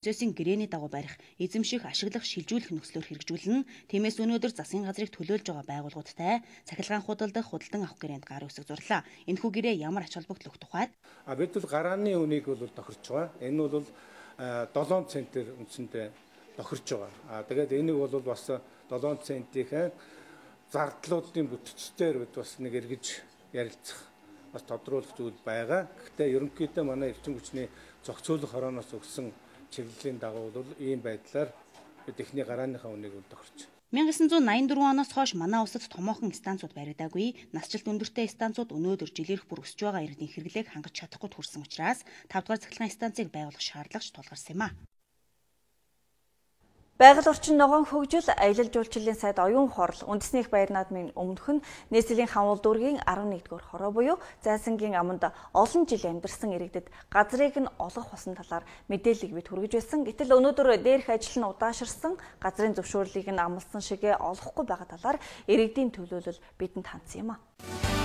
зүйсийн гэрээний дагуу барих, эзэмших, ашиглах, шилжүүлэх нөхцлөөр хэрэгжүүлнэ. Тиймээс өнөөдөр засгийн газрыг төлөөлж байгаа байгууллагуудтай цахилгаан худалдах, худалдан авах гэрээнд гар үсэг зурлаа. Энэхүү гэрээ ямар ач холбогдол өгөх тухайд бид бол гарааны үнийг бол тохирч байгаа. Энэ бол 7 центээр үндсэндээ тохирч байгаа. Тэгээд энийг бол бас 7 центийн зардлуудын бүтцээр бас нэг эргэж ярилцах бас тодруулах зүйл байгаа. Гэхдээ ерөнхийдөө манай эрчим хүчний зохицуулах хорооноос өгсөн чиглэлийн дагуу бол ийм байдлаар бид эхний гарааныхаа үнийг тохирч. 1984 оноос хойш манай улсад томоохон станцууд баригдаагүй. Насжилт өндөртэй станцууд өнөөдөр жилээрх бүр өсөж байгаа иргэдийн хэрэглээг хангаж чадахгүй хүрсэн учраас 5 дугаар цахилгаан станцыг байгуулах шаардлагач тулгарсан юм а. Байгаль орчин ногоон хөгжил, аялал жуулчлалын сайд оюун хорол, үндэсний их баяр наадмын өмнөх нь нийслэлийн хавуул дүүргийн 11-р хороо буюу Зайсангийн аманд олон жил амьдарсан иргэдэд газрыг нь олох болсон талаар мэдээллийг бид хүргэж байсан. Гэтэл өнөөдөр дээрх ажил нь удаашрсан, газрын зөвшөөрлийг нь амласан шигээ олохгүй байгаа талаар иргэдийн төлөөлөл бидэнд хандсан юм а.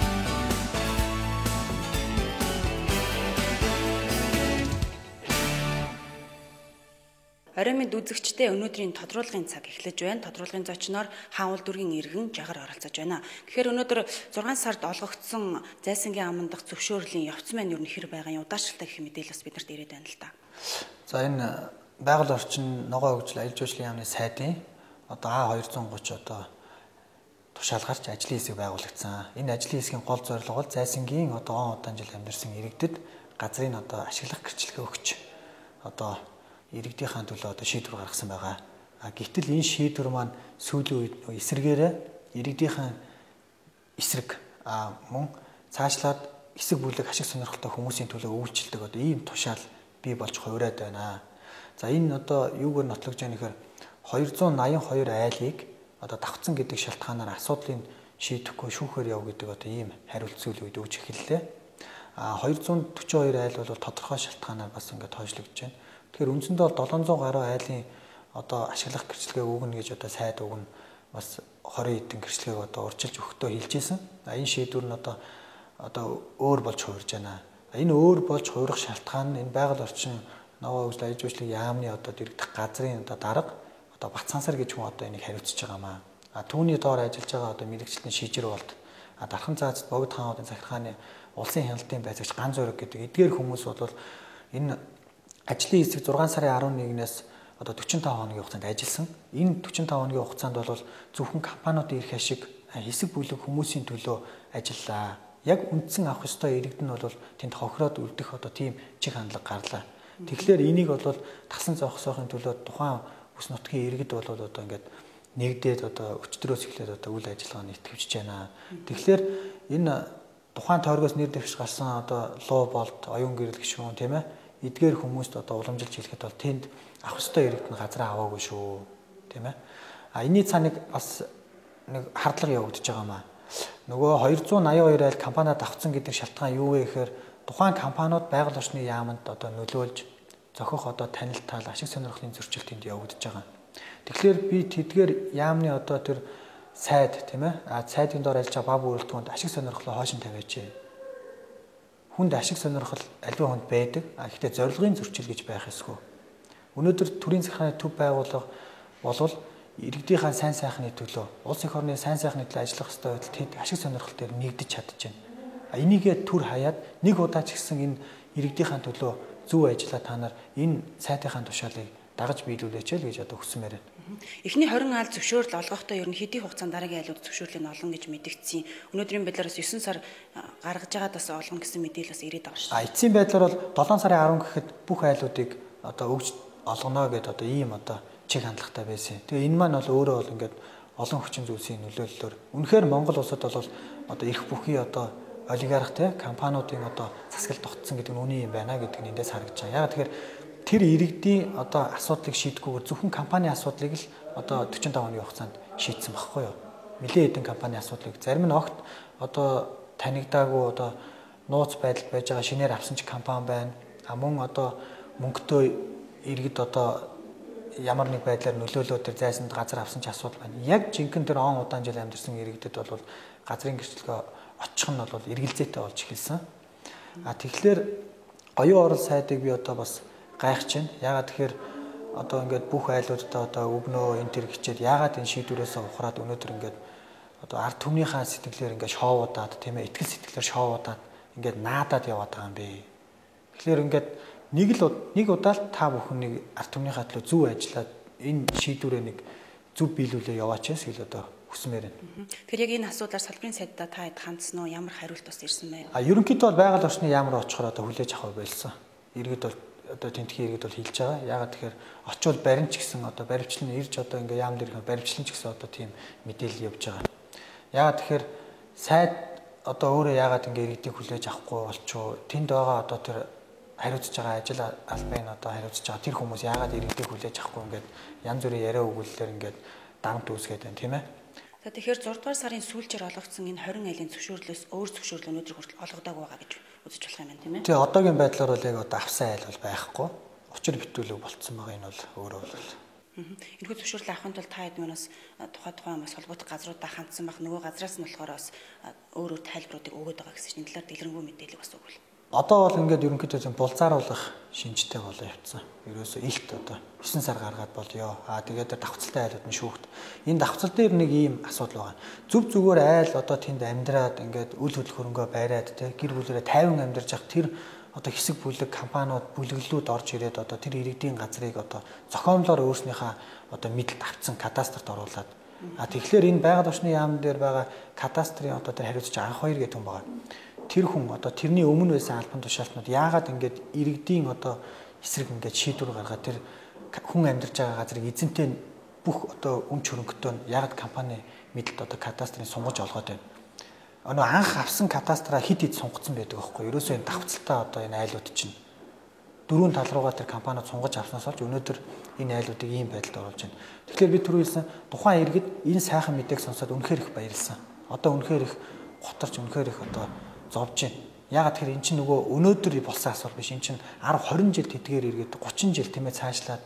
Оройн мэд үзэгчдээ өнөөдрийн тодруулгын цаг эхлэж байна. Тодруулгын зочноор хаанвал дүргийн иргэн жагар оролцож байна. Тэгэхээр өнөөдөр 6 сард олгогдсон Зайсангийн аман дахь зөвшөөрлийн явц маань юу нөхөр байгаа юм удаашралтай гэх мэдээлэлс биднэрт ирээд байна л да. За энэ байгаль орчин ногоон хөгжил аялал жуулчлалын яамны сайдын А230 тушаалгарч ажлын хэсэг байгуулагдсан. Энэ ажлын хэсгийн гол зорилго бол Зайсангийн он удаан жил амьдарсан иргэдэд газрыг ашиглах гэрчлэгээ өгч иргэдийнхээ төлөө шийдвэр гаргасан байгаа. Гэвтэл энэ шийдвэр маань сүүлийн үед эсрэгээрээ иргэдийнхээ эсрэг мөн цаашлаад эсэг бүлэг ашиг сонирхолтой хүмүүсийн төлөө үйлчлдэг ийм тушаал бий болж хувираад байна. За энэ юугаар нотлогдож байгаа нөхөр 282 айлыг давхцсан гэдэг шалтгаанаар асуудлыг шийдэхгүй шүүхээр яв гэдэг ийм хариулт зүйл үед өгч эхэллээ. 242 айл бол тодорхой шалтгаанаар бас ингээд хойшлогдож байна. Тэгэхээр үндсэндээ 700 гаруй айлын ашиглах гэрчлэгээ өгнө гэж сайд өгнө бас 20 хэдэн гэрчлэгийг урьдчилж өгөхдөө хэлжсэн. Энэ шийдвэр нь өөр болж хувирж байна. Энэ өөр болж хувирах шалтгаан нь энэ байгаль орчин ногоон хөгжил аялал жуулчлалын яамны дэрэгдэх газрын дарга Батсансар гэж хүн энийг хариуцж байгаа маа. Түүний доор ажиллаж байгаа мэрэгчлэн шижир болд дархан цаазд богд хаануудын захиргааны улсын хяналтын байцаагч Ган Зориг гэдэг эдгээр хүмүүс бол энэ ажлын хэсэг 6 сарын 11-ээс 45 хоногийн хугацаанд ажилласан. Энэ 45 хоногийн хугацаанд бол зөвхөн компаниудын эрх ашиг хэсэг бүлэг хүмүүсийн төлөө ажиллаа. Яг үндсэн авах ёстой иргэд нь бол тэнд хохироод үлдэх тийм чиг хандлага гарлаа. Тэгэхээр энийг бол тасан зогсоохын төлөө тухайн бүс нутгийн иргэд бол ингээд нэгдээд өчтөрөөс эхлээд үйл ажиллагааны итгэвчж байна. Тэгэхээр энэ тухайн тойргоос нэр дэвш гарсан луу болд оюун гэрэл гишүүн тийм ээ эдгээр хүмүүст уламжилж хэлэхэд бол тэнд авах ёстой иргэд нь газраа аваагүй шүү тийм ээ. Энэний цааныг бас нэг хардлага явагдаж байгаа маа. Нөгөө 282 айл компаниуд авцсан гэдэг шалтгаан юу вэ гэхээр тухайн компаниуд байгаль орчны яамд нөлөөлж зохих танилт тал ашиг сонирхлын зөрчил тэнд явагдаж байгаа. Тэгэхээр би тэдгээр яамны тэр сайд тийм ээ сайдын доор ажиллаж байгаа бав бүрэлдэхүүнд ашиг сонирхлоо хойшин тавиач. Хүнд ашиг сонирхол аливаа хүнд байдаг. Гэхдээ зорилгын зөрчил гэж байх ёсгүй. Өнөөдөр төрийн захиргааны төв байгууллага болвол иргэдийнхээ сайн сайхны төлөө, улс их орны сайн сайхны төлөө ажиллах ёстой байтал тэд ашиг сонирхол дээр нэгдэж чадчихна. Энийгээ түр хаяад нэг удаа ч гэсэн энэ иргэдийнхээ төлөө зөв ажиллаа та нар энэ сайтынхаа тушаалыг дагаж биелүүлээч л гэж хүсмээр байна. Эхний 20 айл зөвшөөрөл олгохдоо ер нь хэдийн хугацаанд дараагийн айлууд зөвшөөрлийг олгоно гэж мэдгдсэн. Өнөөдрийн байдлаараас 9 сар гаргаж байгаадаас олгоно гэсэн мэдээлэл бас ирээд байгаа шүү. Эцсийн байдлаар бол 7 сарын 10 гэхэд бүх айлуудыг өгж олгоно гэдэг ийм чиг хандлагатай байсан. Тэгээ энэ маань бол өөрөө бол ингээд олон хүчин зүйлсийн нөлөөллөөр үнэхээр Монгол улсад бол их бүхий олигарх компаниудын засаглалд тогтсон гэдэг нь үний юм байна гэдэг нь эндээс харагдаж байгаа. Яг тэгэхээр тэр иргэдийн асуудлыг шийдэхгүйгээр зөвхөн компанийн асуудлыг л 45 хоногийн хугацаанд шийдсэн багхгүй юу. Нэлээд хэдэн компанийн асуудлыг зарим нь огт танигдаагүй нууц байдалд байж байгаа шинээр авсан ч компани байна. Мөн мөнгөтэй иргэд ямар нэг байдлаар нөлөөлөө тэр зайсанд газар авсан ч асуудал байна. Яг жинхэнэ тэр он удаан жил амьдарсан иргэдэд бол газрын гэрчлэгээ очих нь бол эргэлзээтэй болж эхэлсэн. Тэгэхээр оюун орол сайдыг би бас гайхаж байна. Ягаад тэгэхээр одоо ингээд бүх айлуудаа одоо өвнөө энэ төр хичээд яагаад энэ шийдвэрээс ухраад өнөөдөр ингээд одоо ард түмнийхээ сэтгэлээр ингээд шоовуудаад тийм ээ итгэл сэтгэлээр шоовуудаад ингээд наадаад яваад байгаа юм бэ. Тэгэхээр ингээд нэг удаа л та бүхнийг ард түмнийхээ төлөө зөв ажиллаад энэ шийдвэрээ нэг зөв биелүүлээ яваач гэсэн одоо хүсмээр байна. Тэгэхээр яг энэ асуудлаар салбарын сайдаа та хэд хандсан уу? Ямар хариулт бас ирсэн бэ? Ерөнхийдөө бол байгаль орчны яамар очихоор одоо хүлээж авах байлсан. Иргэд бол одоо тентхийн иргэд бол хэлж байгаа. Ягаад тэгэхээр очивол баримч гэсэн одоо баримчлал ирж одоо ингээ яам дээр ирэх баримчлал ч гэсэн одоо тийм мэдээлэл явж байгаа. Ягаад тэгэхээр сайд одоо өөрөө ягаад ингээ иргэдийг хүлээж авахгүй болчихоо тэнд байгаа одоо тэр хариуцж байгаа ажил албаны одоо хариуцж байгаа тэр хүмүүс ягаад иргэдийг хүлээж авахгүй ингээд янз бүрийн яриа өгүүлэлээр ингээд дарамт үүсгээд байна тийм ээ. За тэгэхээр 6 дугаар сарын сүүлчээр олгогдсон энэ 20 айлын зөвшөөрлөөс өөр зөвшөөрөл өнөөдөр хүртэл олгодоогүй байгаа гэж үзэж болох юм байна тийм ээ. Тэгээ одоогийн байдлаар бол яг одоо авсан айл бол байхгүй. Учир битүүлэг болцсон байгаа энэ бол өөрөө бол. Энэхүү зөвшөөрлөө авахын тулд та хэдмээс тухайн бас холбоотой газруудаа хандсан байх нөгөө газраас нь болохоор бас өөр тайлбаруудыг өгöd байгаа гэсэн чинь энэ талаар дэлгэрэнгүй мэдээлэл бас өгвөл. Одоо бол ингээд ерөнхийдөө зөв булзааруулах шинжтэй болоо явцсан. Ерөөсөө илт одоо 9 сар гаргаад болёо. Тэгээд давхцалтай айлууд нь шүүхт. Энэ давхцал дээр нэг ийм асуудал байгаа. Зүв зүгээр айл одоо тэнд амьдраад ингээд үл хөдлөх хөрөнгөө байраад те гэр бүлэрээ 50 амьдарч явах тэр одоо хэсэг бүлэг компаниуд бүлэглүүд орж ирээд одоо тэр иргэдийн газрыг одоо зохиомлоор өөрснийхөө одоо мэдэлд авцсан кадастрт оруулаад тэгэхээр энэ байгаль орчны яам дээр байгаа кадастрын одоо тэр хариуцж анх 2 гэх юм байгаа. Тэр хүн одоо тэрний өмнө байсан албан тушаалтнууд яагаад ингээд иргэдийн одоо эсрэг ингээд шийдвэр гаргаад тэр хүн амьдарч байгаа газрыг эзэнтэй бүх одоо өмч хөрөнгөтэй яагаад компани мэдэлд одоо кадастрын сунгаж олгоод байна. Өнөө анх авсан кадастраа хид сунгацсан байдаг аахгүй. Ерөөсөө энэ давхцалтай одоо энэ айлууд чинь дөрвөн тал руугаа тэр компаниуд сунгаж авснаас болж өнөөдөр энэ айлуудыг ийм байдалд оруулж байна. Тэгэхээр би түрүү хэлсэн тухайн иргэд энэ сайхан мэдээг сонсоод үнэхээр их баярлсан. Одоо үнэхээр их готарч үнэхээр их одоо зовж байна. Ягаад тэгэхээр эн чинь нөгөө өнөөдөр болсон асуудал биш. Эн чинь 10 20 жил тэдгээр иргэд 30 жил тиймээ цаашлаад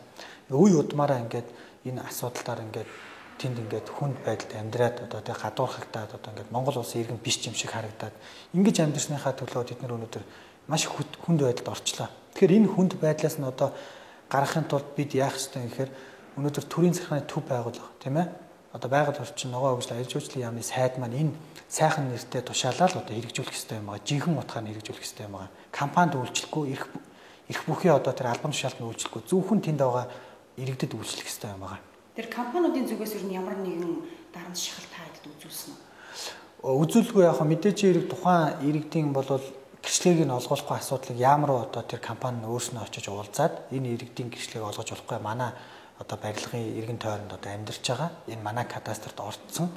үе удмаараа ингээд энэ асуудалтаар ингээд тэнд ингээд хүнд байдалд амьдраад одоо тэг гадуурхагдаад одоо ингээд Монгол улсын иргэн биш юм шиг харагдаад ингэж амьдрсныхаа төлөө тэд нар өнөөдөр маш хүнд байдалд орчлоо. Тэгэхээр энэ хүнд байдлаас нь одоо гаргахын тулд бид яах ёстой юм гэхээр өнөөдөр төрийн захиргааны төв байгуулах тийм ээ. Одоо байгаль орчин ногоо хөгжил аял жуулчлалын яамны сайд маань энэ сайхан нэртэй тушаалаад одоо хэрэгжүүлэх ёстой юм байгаа. Жинхэнэ утгаар хэрэгжүүлэх ёстой юм байгаа. Компанид үйлчлэхгүй эрх бүхий одоо тэр албан тушаалтанд үйлчлэхгүй зөвхөн тэнд байгаа иргэдэд үйлчлэх ёстой юм байгаа. Тэр компаниудын зүгээс ер нь ямар нэгэн дарамт шахалт таадад үзүүлсэн үү? Үзүүлгүй яг мэдээж хэрэг тухайн иргэдийн бол гэрчлэгийг нь олгуулахгүй асуудлыг ямар одоо тэр компани нь өөрснөө очиж уулзаад энэ иргэдийн гэрчлэгийг олгож болохгүй манай одоо барилгын иргэн тойронд одоо амьдарч байгаа энэ манай кадастрт орцсон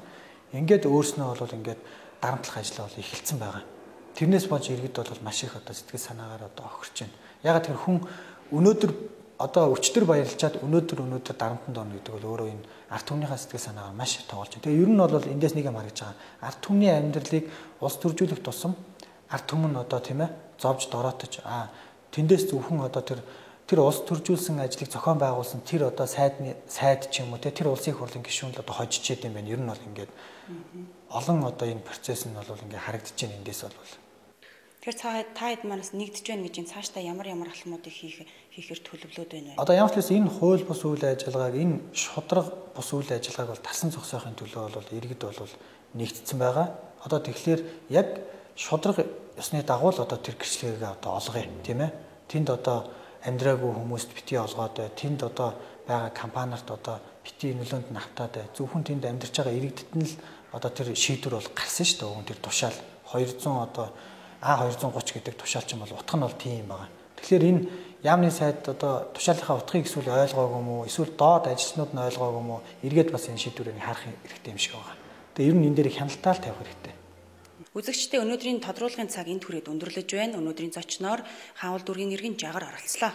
ингээд өөрснөө бол ингээд дарамтлах ажил бол эхэлсэн байгаа. Тэрнээс болж иргэд бол маш их одоо сэтгэл санаагаар одоо охирч байна. Ягаад тэр хүн өнөөдөр одоо өчтөр баярлчаад өнөөдөр дарамтанд орно гэдэг бол өөрөө энэ ард түмнийхээ сэтгэл санаагаар маш тоглож байна. Тэгээ ер нь бол эндээс нэг юм харагдж байгаа. Ард түмний амьдралыг улс төржүүлэх тусам ард түмэн одоо тийм ээ зовж дороотож тэндээс зөвхөн одоо тэр улс төржүүлсэн ажлыг зохион байгуулсан тэр одоо сайд ч юм уу тэр улсын их хурлын гишүүн л одоо хожиж идэм байна. Ер нь бол ингээд олон одоо энэ процесс нь бол ингээд харагдаж байна эндээс бол. Тэгэхээр та хэд манаас нэгдэж байна гэж энэ цаашдаа ямар алхмуудыг хийхээр төлөвлөд байна вэ? Одоо ямар ч гэсэн энэ хууль бус үйл ажиллагааг энэ шудраг бус үйл ажиллагааг бол тасан зогсоохын төлөө бол иргэд бол нэгдсэн байгаа. Одоо тэгэхээр яг шудраг ёсны дагуу л одоо тэр гэрчлэгийг одоо олгоё тийм ээ. Тэнд одоо амьдраагүй хүмүүст бити олгоод бай. Тэнд одоо байгаа компаниарт одоо бити нөлөөнд навтаад бай. Зөвхөн тэнд амьдарч байгаа иргэдэд нь л одоо тэр шийдвэр бол гарсан шүү дээ. Тэр тушаал 200 одоо А230 гэдэг тушаалч юм бол утга нь бол тийм байгаа. Тэгэхээр энэ яамны сайд одоо тушаалынхаа утгыг эсвэл ойлгоогүй юм уу? Эсвэл доод ажилчнууд нь ойлгоогүй юм уу? Эргээд бас энэ шийдвэрийг харах хэрэгтэй юм шиг байгаа. Тэгээ ер нь энэ дээр хяналтаа л тавих хэрэгтэй. Үзэгчдээ өнөөдрийн тодруулгын цаг энд хүрээд өндөрлөж байна. Өнөөдрийн зочноор Хаавал дүүргийн иргэн Жагар оролцлоо.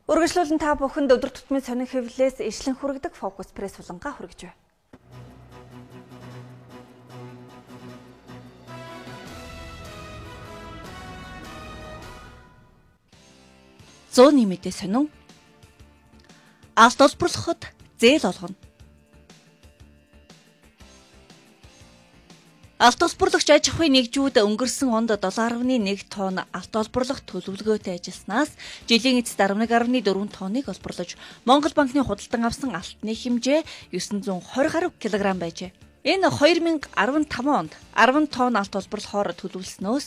Үргэлжлүүлэн та бүхэнд өдөр тутмын сонин хэвлэлээс ишлэн хүргэдэг фокус пресс булангаа хүргэж байна. Зооны мэдээ сонин. Алт олборлоход зээл олгоно. Алт олборлогч аж ахуйн нэгжүүд өнгөрсөн онд 7.1 тонн алт олборлох төлөвлөгөөтэй ажилласнаас жилийн эцэст 11.4 тонныг олборлож Монгол банкны худалдан авсан алтны хэмжээ 920 гаруй килограмм байжээ. Энэ 2015 онд 10 тонн алт олборлохоор төлөвлөснөөс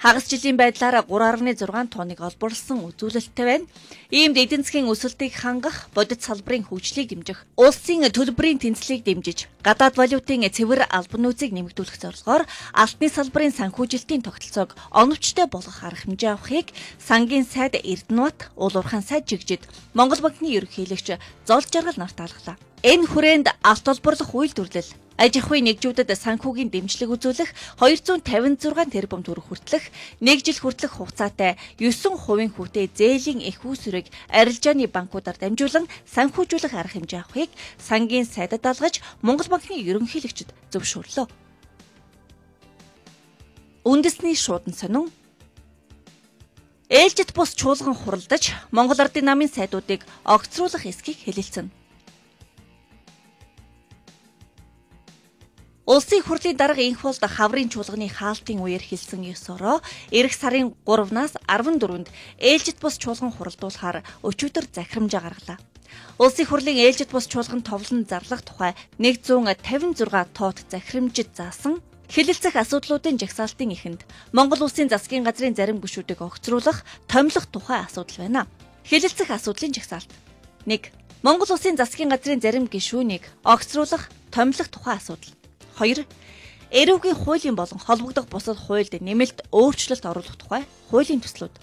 хагас жилийн байдлаар 3.6 тонныг олборлсон үзүүлэлттэй байна. Иймд эдийн засгийн өсөлтийг хангах, бодит салбарын хөгжлийг дэмжих, улсын төлбөрийн тэнцлийг дэмжиж, гадаад валютын цэвэр албан нөөцийг нэмэгдүүлэх зорилгоор алтны салбарын санхүүжилтийн тогтолцоог оновчтой болгох арга хэмжээ авахыг сангийн сайд Эрдэнэбат, Улуурхан сайд Жигжид, Монгол банкны ерөнхийлөгч Зол Жаргал нарт таалглаа. Энэ хүрээнд алт олборлох үйлдвэрлэл аж ахуйн нэгжүүдэд санхүүгийн дэмжлэг үзүүлэх 256 тэрбум төгрөг хүртэлх 1 жил хүртэлх хугацаатай 9% хүүтэй зээлийн их үүсвэрийг арилжааны банкудаар дамжуулан санхүүжүүлэх арга хэмжээ авахыг сангийн сайдад даалгаж Монгол банкны ерөнхийлөгчд зөвшөөрлөө. Үндэсний шуудан сонин ээлжид бус чуулган хуралдаж Монгол Ардын намын сайдуудыг огцруулах эсхийг хэлэлцэнэ. Улсын хурлын дарга инх болд хаврын чуулганы хаалтын үеэр хэлсэн ёс ороо эх сарын 3-наас 14-нд ээлжид бус чуулган хуралдуулахаар өчигдөр захирамжаа гаргалаа. Улсын хурлын ээлжид бус чуулган товлон зарлах тухай 156 тоот захирамжид заасан хэлэлцэх асуудлуудын жагсаалтын эхэнд Монгол Улсын засгийн газрын зарим гишүүдийг огцруулах, томилох тухай асуудал байна. Хэлэлцэх асуудлын жагсаалт 1. Монгол Улсын засгийн газрын зарим гишүүнийг огцруулах, томилох тухай асуудал. 2. Эрүүгийн хуулийн болон холбогдох бусад хуульд нэмэлт өөрчлөлт оруулах тухай хуулийн төслүүд.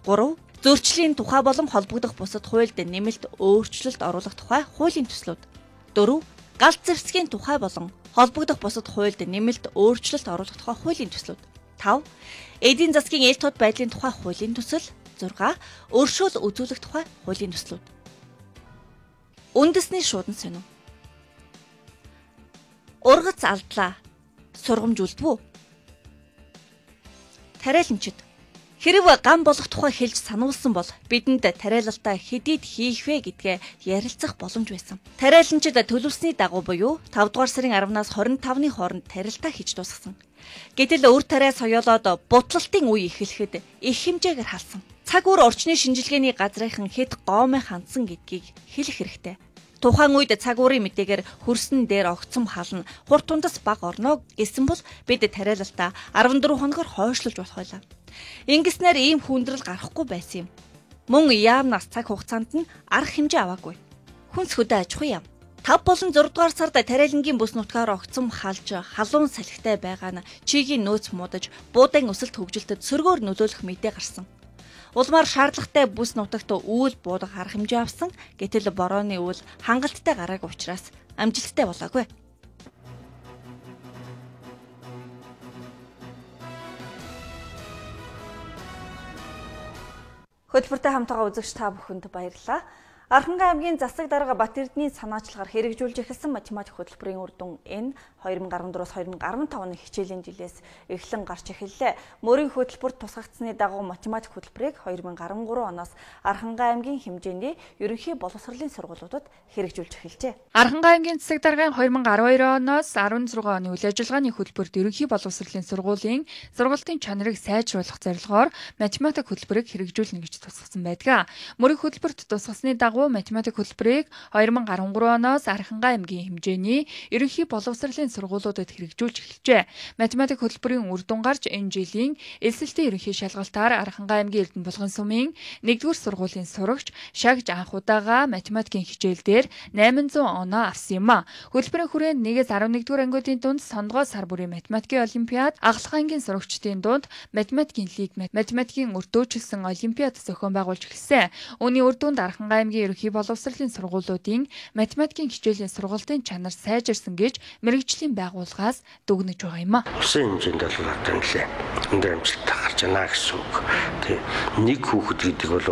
3. Зөрчлийн тухай болон холбогдох бусад хуульд нэмэлт өөрчлөлт оруулах тухай хуулийн төслүүд. 4. Галт зэвсгийн тухай болон холбогдох бусад хуульд нэмэлт өөрчлөлт оруулах тухай хуулийн төслүүд. 5. Эдийн засгийн ээлж тод байдлын тухай хуулийн төсөл. 6. Өршөөл үзүүлэх тухай хуулийн төслүүд. Үндэсний шуудан сонин ургац алдлаа. Сургамж үлдвүү. Тариаланчид хэрв гам болох тухай хэлж сануулсан бол бидэнд тариалалтаа хэдийд хийх вэ гэдгээ ярилцах боломж байсан. Тариаланчид төлөвлөсний дагуу буюу 5 дугаар сарын 10-наас 25-ны хооронд тариалтаа хийж дуусгасан. Гэтэл өр тариа соёолоод бутлалтын үе эхлэхэд их хэмжээгээр халсан. Цаг үр орчны шинжилгээний газрынхан хэд гоомой хандсан гэдгийг хэлэх хэрэгтэй. Тухайн үед цаг уурын мэдээгээр хөрсөн дээр огцом хална, хурд тундас баг орно гэсэн бол бид тариалалтаа 14 хоногор хойшлуулж болох байлаа. Ингэснээр ийм хүндрэл гарахгүй байсан юм. Мөн яамнаас цаг хугацаанд нь арга хэмжээ аваагүй. Хүнс хөдөө аж ахуй яам. 5 болон 6 дугаар сард тариалангийн бүс нутгаар огцом халж, халуун салхитай байгаа нь чигийн нөөц муудаж, буудаан өсөлт хөгжилтөд сөргөөр нөлөөлөх мэдээ гарсан. Улмаар шаардлагатай бүс нутагт үүл буудах арга хэмжээ авсан. Гэтэл борооны үүл хангалттай гараагүй учраас амжилттай болоогүй. Хөтөлбөртэй хамтаага үзэгч та бүхэнд баярлалаа. Архангай аймгийн засаг дарга Батэрдний санаачлагаар хэрэгжүүлж эхэлсэн математик хөтөлбөрийн үр дүн энэ 2014-с 2015 оны хичээлийн жилээс эхлэн гарч эхэллээ. Мөрийн хөтөлбөрт тусгагдсны дагуу математик хөтөлбөрийг 2013 оноос Архангай аймгийн хэмжээний ерөнхий боловсролын сургуулиудад хэрэгжүүлж эхэлжээ. Архангай аймгийн засаг даргын 2012 оноос 16 оны үйл ажиллагааны хөтөлбөрт ерөнхий боловсролын сургуулийн сургалтын чанарыг сайжруулах зорилгоор математик хөтөлбөрийг хэрэгжүүлнэ гэж тусгасан байдаг. Мөрийн хөтөлбөрт тусгасны дагуу математик хөтөлбөрийг 2013 оноос Архангай аймгийн хэмжээний ерөнхий боловсролын сургуулиудад хэрэгжүүлж эхэлжээ. Математик хөтөлбөрийн үр дүн гарч энэ жилийн элсэлтийн ерөнхий шалгалтаар Архангай аймгийн Эрдэнэбулган сумын 1-р сургуулийн сурагч шагж анх удаага математикийн хичээл дээр 800 оноо авсан юм а. Хөтөлбөрийн хүрээнд 1-ээс 11-р ангиудын дунд сондгоо сар бүрийн математикийн олимпиад, Агалах ангийн сурагчдын дунд математикийн лиг, математикийн өртөөчлсөн олимпиад зохион байгуулж эхэлсэн. Үүний үр дүнд Архангай аймгийн ерөнхий боловсролын сургуулиудын математикийн хичээлийн сургалтын чанар сайжирсан гэж мэргэжлийн байгууллагаас дүгнэж байгаа юм а. Улсын хэмжээнд бол одоо нэлээ өндөр амжилттай гарч байна гэсэн үг. Тэг нэг хүүхэд гэдэг бол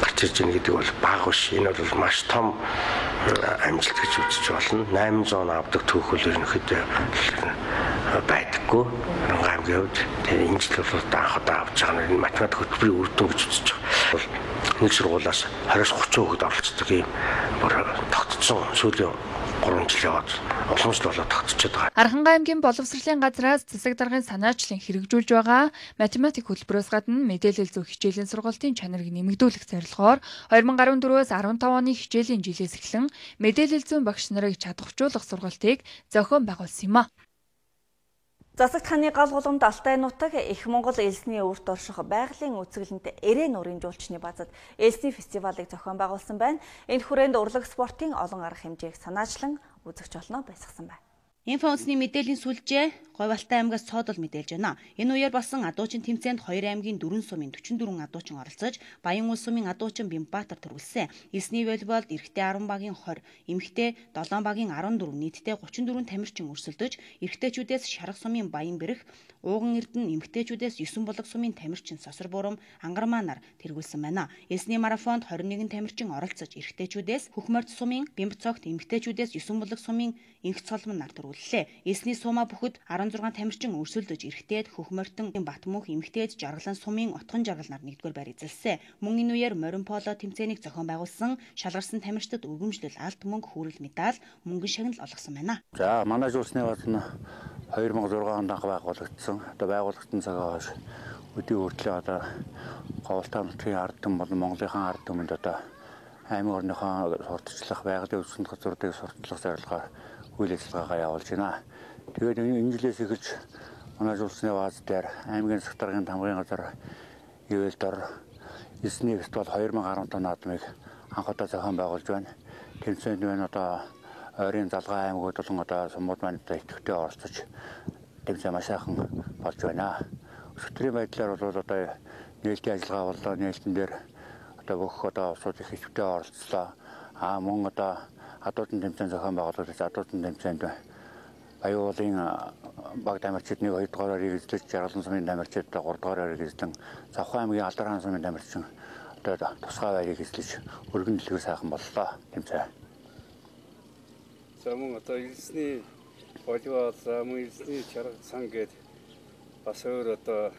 гарч ирж байгаа гэдэг бол бага биш. Энэ бол маш том амжилт гэж үзэж болно. 800 авдаг түүхэл ерөнхийдөө байдаггүй. Архангай аймгийн хувьд тэгээ энэ жил бол анх удаа авч байгаа нь математик хөтөлбөрийн үр дүн гэж үзэж байгаа. Нэг сургуулиас 20-30 хүүхэд оролцдог юм бүр тогтцсон сүүлийн 3 жил яваад уламжлал болоод тогтчиход байгаа. Архангай аймгийн боловсролын газраас засаг даргын санаачлан хэрэгжүүлж байгаа математик хөтөлбөрөөс гадна мэдээлэл зөх хичээлийн сургалтын чанарыг нэмэгдүүлэх зорилгоор 2014-өөс 15 оны хичээлийн жилээс эхлэн мэдээлэл зүйн багш нарыг чадварчуулах сургалтыг зохион байгуулсан юм а. Засагт ханы гал гулгамд Алтай нутаг Их Монгол элсний үрт орших байгалийн үзэсгэлэнт Эрен нурын жуулчны базад элсний фестивалыг зохион байгуулсан байна. Энэ хүрээнд урлаг спортын олон арга хэмжээг санаачлан үзэгч олноо байсгасан байна. Инфо үндэсний мэдээллийн сүлжээ Говь Алтай аймгаас цоодол мэдээлж байна. Энэ үеэр болсон адуучин тэмцээнд 2 аймгийн 4 сумын 44 адуучин оролцож, Баян улс сумын адуучин Бямбаатар төрүүлсэн. Эсний волейболд эрэгтэй 10 багийн 20, эмэгтэй 7 багийн 14, нийтдээ 34 тамирчин өрсөлдөж, эрэгтэйчүүдээс Шарах сумын Баян Бэрх, Ууган Эрдэнэ эмэгтэйчүүдээс 9 булаг сумын тамирчин Сосор Бурам, Ангармаа нар тэргүүлсэн байна. Эсний марафонд 21 тамирчин оролцож, эрэгтэйчүүдээс Хөхмөрд сумын Бямбцогт, эмэгтэйчүүдээс 9 булаг сумын Инх Цолмон нар төрүүллээ. Эсний Суума бүхэд 16 тамирчин өрсөлдөж, эрэгтэйд Хөхмөртөн Батмөнх, эмэгтэйд Жаргалан сумын Отхон Жаргал нар 1-р байр эзэлсэн. Мөн энэ үеэр морин поло тэмцээнийг зохион байгуулсан шалгарсан тамирчдад өргөмжлөл, алт мөнгө, хүрэл медаль, мөнгөн шагнал олгосон байна. За манай жуулчны баз нь 2006 онд анх байгуулагдсан. Одоо байгуулагдсан цагаас хойш өдөө хүртэл одоо Говь Алтай нутгийн ард түмэн болон Монголынхаа ард түмэнд одоо аймаг орныхоо сурталчлах, байгалийн өвсөнд газруудыг сурталчлах зорилгоор үйл ажиллагаагаа явуулж байна. Тэгээд энэ жилээс эхэлж манай жуулчны бааз дээр аймгийн засаг даргын тамгын газар Ивэлдор эсний фестивал 2015 наадмыг анх удаа зохион байгуулж байна. Тэмцээнд маань одоо ойрын залгаа аймагуд болон одоо сумууд маань идэвхтэй оролцож тэмцээн маш сайхан болж байна. Өсвөрийн байдлаар бол одоо нээлтийн ажиллагаа боллоо, нээлтэн дээр одоо бүх одоо улсууд их идэвхтэй оролцлоо. Мөн одоо адуучин тэмцээн зохион байгуулагдаж, адуучин тэмцээнд Баян уулын баг тамирчид 1-2 дугаараар эзлэж, Жаргалан сумын тамирчид 3 дугаараар эзлэн, Завхан аймгийн Алдар хаан сумын тамирчин одоо тусгай байрыг эзлэж өргөн дэлгүүр сайхан боллоо тэмцээн. За мөн одоо элсний волейбол, мөн элсний чарга сан гээд бас өөр одоо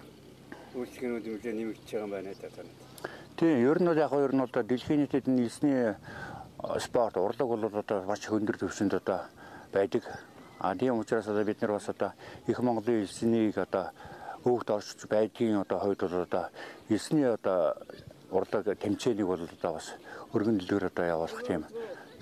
үйлчлэгнүүд нэлээд нэмэгдэж байгаа юм байна даа. Тийм, ер нь бол яг ер нь одоо дэлхийн нийтэд энэ элсний спорт, урлаг бол одоо маш өндөр түвшинд одоо байдаг. Тийм учраас одоо бид нар бас одоо Их Монголын элснийг одоо өвгт оршиж байдгийн одоо хувьд бол одоо элсний одоо урлаг тэмцээнийг бол одоо бас өргөн дэлгүүр одоо явуулах тийм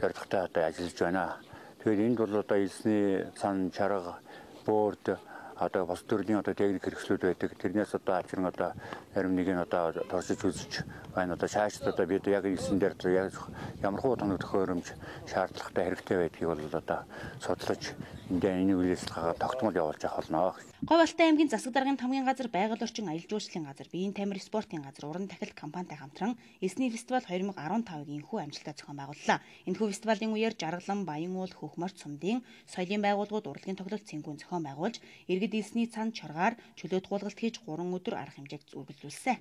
зорилготой одоо ажиллаж байна. Тэгэхээр энд бол одоо элсний цан, чарга, бөөрд одоо бас төрлийн одоо техник хэрэгслүүд байдаг. Тэрнээс одоо ачирн одоо зарим нэг нь одоо туршиж үзэж байна. Одоо шаашд одоо бид яг элсэн дээр яг ямар хуу тоног төхөөрөмж шаардлагатай хэрэгтэй байдгийг бол одоо судлаж энэ үйл ажиллагаагаа тогтмол явуулж авах болно. Говь Алтай аймгийн засаг даргын тамгын газар, байгаль орчин аялал жуулчлалын газар, биеийн тамир спортын газар, уран тахилт компанитай хамтран эсний фестивал 2015-гийн энхүү амжилттай зохион байгууллаа. Энэхүү фестивалийн үеэр Жаргалан, Баян уул, Хөхмөрт сумдын соёлын байгууллагууд урлагийн тоглолт цэнгүүн зохион байгуулж, иргэд элсний цан чоргаар чөлөөт гуулгалт хийж 3 өдөр арга хэмжээг үргэлжлүүлсэн.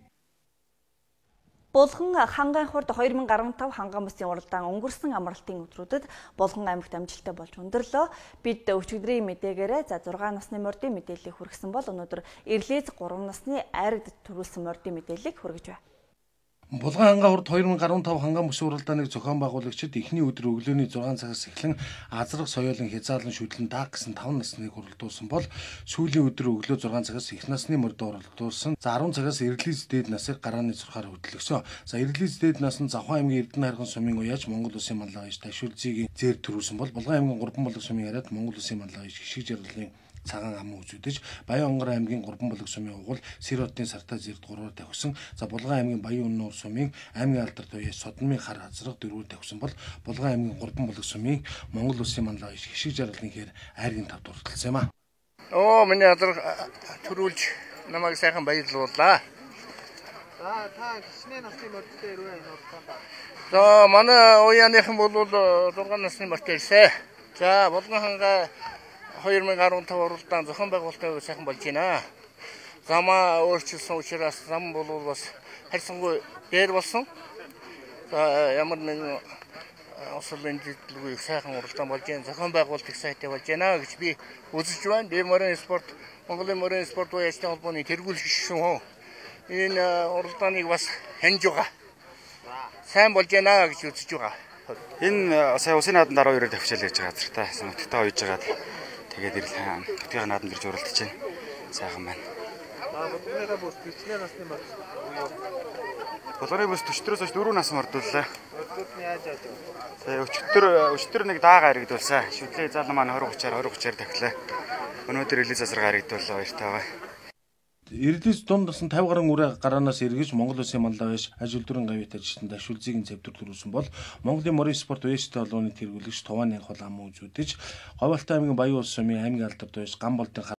Булган хангайн хурд 2015 ханган бүсийн уралдаан өнгөрсөн амралтын өдрүүдэд Булган аймагт амжилттай болж өндөрлөө. Бид өчигдрийн мэдээгээрээ 6 насны мордын мэдээллийг хүргэсэн бол өнөөдөр Ирлиз 3 насны айрагд төрүүлсэн мордын мэдээллийг хүргэж байна. Булган ханган хурд 2015 ханган бүсийн уралдааныг зохион байгуулагчид эхний өдөр өглөөний 6 цагаас эхлэн азрах соёолын хязаалан шүтлэн дааг гэсэн 5 насныг уралдуулсан бол сүүлийн өдөр өглөө 6 цагаас их насны мордоо уралдуулсан. За 10 цагаас Ирлиз дээд насыг гарааны зурхаар хөтлөгсөн. За Ирлиз дээд нас нь Завхан аймгийн Эрдэнэ харган сумын уяаж Монгол Улсын маллагч Ташуулзигийн зээр төрүүлсэн бол Булган аймгийн 3 булаг сумын хараад Монгол Улсын маллагч Хишиг Жаргалын цагаан ам үзүүдэж Баян онгор аймгийн 3 булаг сумын угуул Сиротын сартаа зэрд 3-оор тавьсан. За Булган аймгийн Баян өннөр сумын аймгийн алдар туяа Содмын хар хазраг 4-оор тавьсан бол Булган аймгийн 3 булаг сумын Монгол Улсын маллагч Хишиг Жаргалын хэр айргийн тавд урталсан юм а. Миний алдар төрүүлж намайг сайхан баярлууллаа. За та гişний насны мордтой ирвэ энэ уралдаанд. За манай уяаныхан бол 6 насны мордтой ирсэн. За Булган хангай 2015 уралдаан зохион байгуулалтаа сайхан болж байна. Замаа өөрчилсөн учраас зам бол бас харьцангуй дээр болсон. За ямар нэгэн ослын дэвтлгүй сайхан уралдаан болж байна. Зохион байгуулалт их сайтай болж байна гэж би үзэж байна. Морин спорт, Монголын морин спорт уяачны холбооны тэргүүлэгч шүү. Энэ уралдааныг бас хянж байгаа. Сайн болж байна гэж үзэж байгаа. Энэ сая усын нааданд 12-оор давчаал гэж байгаа газар та нутагтаа ойж жагаад тэгээд ирэл нутгийн нааданд ирж уралдаж байна. Сайхан байна. Булгарынхаа бүс 40 насны баг. Булгарын бүс 40-оос хойш 4 нас мордууллаа. Өдөртний яаж яаж вэ? Өчтөр нэг даага харигдуулсан. Шүтлээ залуу маань 20-30-аар тахлаа. Өнөөдөр релиз засар харигдууллаа баяртайгаа. Эрдэнэс дунд насан 50 гаруй үрэ гараанаас эргэж Монгол Улсын маллаа байж ажил дүрэн гавьт ажилтнаа дашуулзыг цэвдэр төрүүлсэн бол Монголын морин спорт вэст толгойн тэргүүлэгч Тувааны хол ам үзүүдэж Говьалтай аймгийн Баян улс сумын аймгийн алдарт байж Гамболтын